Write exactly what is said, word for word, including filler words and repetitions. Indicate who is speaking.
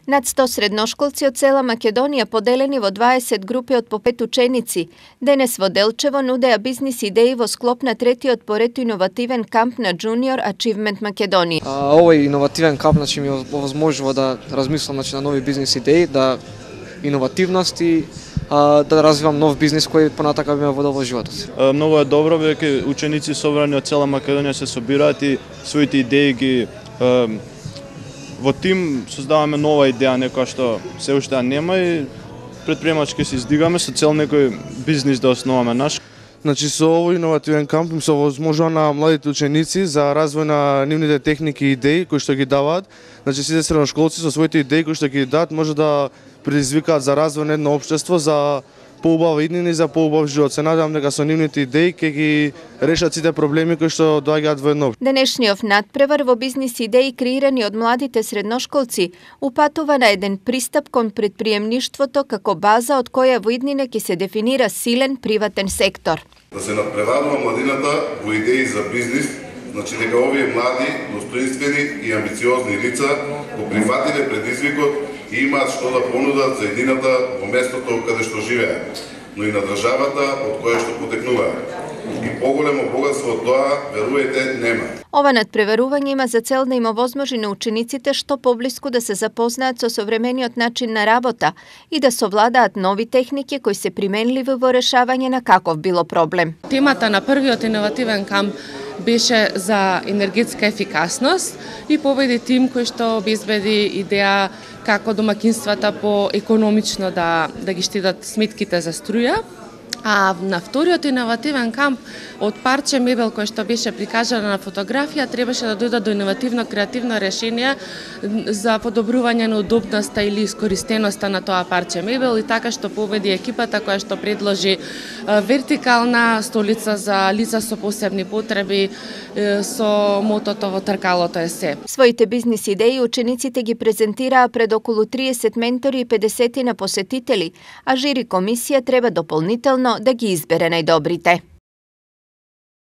Speaker 1: Над сто средношколци од цела Македонија, поделени во дваесет групи од по пет ученици, денес во Делчево нудеа бизнис идеи во склоп на третиот поред иновативен камп на Junior Achievement Македонија.
Speaker 2: А, овој иновативен камп значи ми овозможува да размислам значи на нови бизнис идеи, да иновативност и а, да развивам нов бизнис кој понатака би ме водел во животот.
Speaker 3: Многу е добро веќе ученици собрани од цела Македонија се собираат и своите идеи ги а, во тим создаваме нова идеја, некоја што се уште нема и предприемачки се издигаме со цел некој бизнис да основаме наш.
Speaker 4: Значи со овој иновативен камп им се овозможува на младите ученици за развој на нивните техники и идеи кои што ги даваат. Значи сите средношколци со своите идеи кои што ги дадат може да предизвикаат за развој на едно општество, за поубава иднина и за поубав живот. Се надевам дека со нивните идеи ќе ги решат сите проблеми кои што доаѓаат во едно.
Speaker 1: Денешниот надпревар во бизнис идеи креирани од младите средношколци упатува на еден пристап кон претприемништвото како база од која во иднина ќе се дефинира силен приватен сектор.
Speaker 5: Да се надпреварува младината во идеи за бизнис, значи дека овие млади, достоинствени и амбициозни лица го прифатиле предизвикот и имаат што да понудат за едината во местото каде што живеат, но и на државата од која што потекнуваат. И поголемо богатство од тоа, верувајте, нема.
Speaker 1: Ова надпреварување има за цел да им овозможи на учениците што поблиску да се запознаат со современиот начин на работа и да совладаат нови техники кои се применливи во решавање на каков било проблем.
Speaker 6: Темата на првиот иновативен камп беше за енергетска ефикасност и победи тим кој што обезбеди идеја како домакинствата по економично да да ги штедат сметките за струја. А на вториот иновативен камп од парче мебел кој што беше прикажана на фотографија требаше да дојдат до иновативно креативно решение за подобрување на удобноста или искористеноста на тоа парче мебел и така што победи екипата која што предложи вертикална столица за лица со посебни потреби со мотото во тркалото е се.
Speaker 1: Своите бизнис идеи учениците ги презентираа пред околу триесет ментори и педесет на посетители, а жири комисија треба дополнително да ги избере најдобрите.